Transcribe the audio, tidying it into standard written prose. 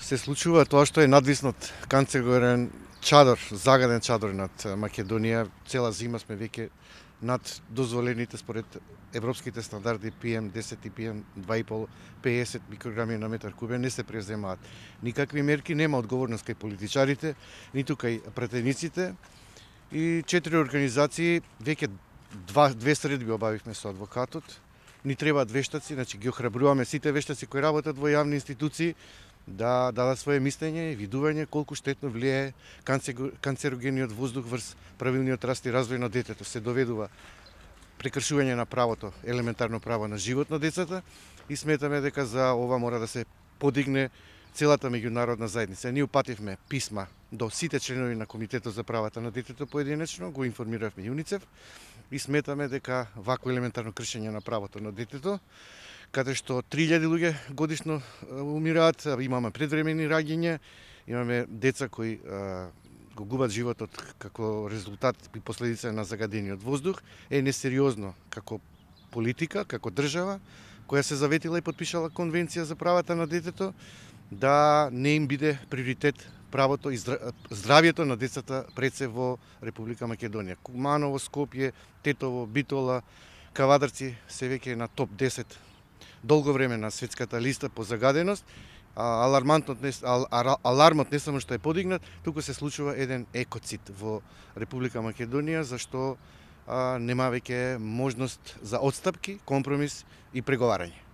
се случува тоа што е надвиснат канцероген чадор, загаден чадор над Македонија. Цела зима сме веќе над дозволените според европските стандарди PM10 и PM2,5 50 микрограми на метар кубен. Не се преземаат никакви мерки, нема одговорност кај политичарите, ниту кај пратениците. И 4 организации, веќе две средби обавивме со адвокатот. Ни требаат вештаци, значи ги охрабруваме сите вештаци кои работат во јавни институции да дадат свое мислење и видување колку штетно влијае канцерогениот воздух врз правилниот раст и развој на детето. Се доведува прекршување на правото, елементарно право на живот на децата и сметаме дека за ова мора да се подигне целата меѓународна заедница. Ние упативме писма до сите членови на Комитетот за правата на детето поединечно, го информиравме ЮНИЦЕФ и сметаме дека вакво елементарно кршење на правото на детето, каде што 3000 луѓе годишно умираат, имаме предвремени раѓања, имаме деца кои го губат животот како резултат и последица на загадениот воздух, е несериозно како политика, како држава, која се заветила и подпишала Конвенција за правата на детето, да не им биде приоритет правото и здравјето на децата пред се во Република Македонија. Куманово, Скопје, Тетово, Битола, Кавадарци се веќе на топ 10 долго време на светската листа по загаденост. Алармот не само што е подигнат, туку се случува еден екоцид во Република Македонија, зашто нема веќе можност за отстапки, компромис и преговарање.